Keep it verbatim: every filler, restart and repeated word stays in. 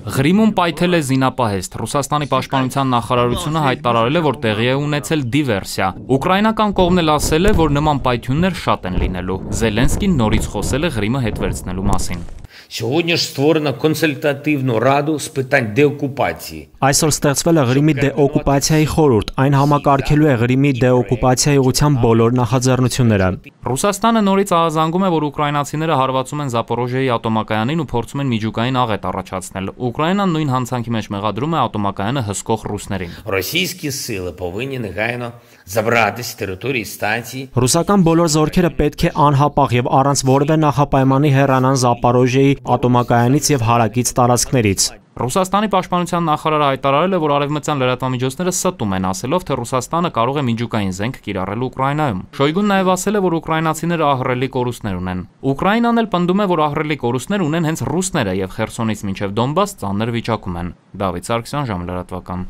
Ղրիմում պայթել է զինապահեստ։ Ռուսաստանի պաշտպանության նախարարությունը հայտարարել է, որ տեղի է ունեցել դիվերսիա։ Ուկրաինական կողմն էլ ասել է, որ նման պայթյուններ շատ են լինելու։ Զելենսկին նորից խոսել է Ղրիմը հետ վերցնելու մասին։ Сьогодні ж створено консультативну раду з питань деокупації. Այսօր ստեղծվել է Ղրիմի դեօկուպացիայի խորհուրդ, այն համակարգելու է Ղրիմի դեօկուպացիայի ուղղության բոլոր նախաձեռնությունները։ Ռուսաստանը նորից ահազանգում է, որ ուկրաինացիները հարվածում են Զապորոժիայի ատոմակայանին ու փորձում են միջուկային աղետ առաջացնել։ Ուկրաինան նույն հանցանքի մեջ մեղադրում է ատոմակայանը հսկող ռուսներին։ Російські сили повинні негайно забрати з території станції. Ռուսական բոլոր զորքերը պետք է անհապաղ եւ առանց որևէ նախապայմանի հեռանան Զապորոժիայի ատոմակայանից եւ հարակից տարածքներից։ Ռուսաստանի պաշտպանության նախարարը հայտարարել է, որ արևմտյան լրատվամիջոցները ստում են, ասելով, թե Ռուսաստանը կարող է միջուկային զենք կիրառել Ուկրաինայում։ Շոյգուն նաև ասել է, որ ուկրաինացիները ահռելի կորուստներ ունեն։ Ուկրաինան էլ պնդում է, որ ահռելի կորուստներ ունեն հենց ռուսները եւ Խերսոնից մինչեւ Դոնբաս ծանր վիճակում են։ Դավիթ Սարգսյան, Ժամը լրատվական։